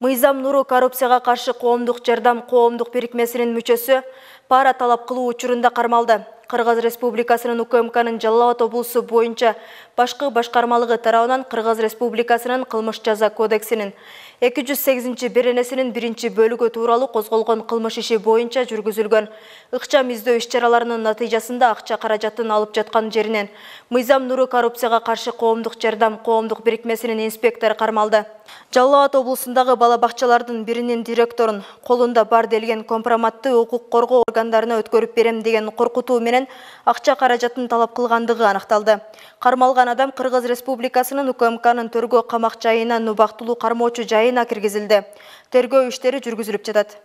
Мыйзам Нуру коррупцияга каршы коомдук жардам коомдук бирикмесинин мүчөсү пара талап кылуу учурунда кармалды. Кыргыз Республикасынын УКМКнын Жалал Абад облусу боюнча башкы башкармалыгы тарабынан Кыргыз Республикасынын кылмыш жаза кодексинин 208-беренесинин 1-бөлүгү тууралуу козголгон кылмыш иши боюнча жүргүзүлгөн ыкчам издөө иш-чараларынын натыйжасында акча каражатын алып жаткан жеринен Мыйзам Нуру коррупцияга каршы коомдук жардам коомдук бирикмесинин инспектору кармалды. Жалал Абад облусундагы бала бакчалардын биринин директорун колунда бар делген компроматты укук коргоо органдарына өткөрүп берем деген коркутуу менен акча каражатын талап кылгандыгы аныкталды. Кармалган адам Кыргыз Республикасынын УКМКнын төргөө камак жайынан убактылуу кармоочу жайына киргизилди. Тергөө иштери жүргүзүлүп жатат.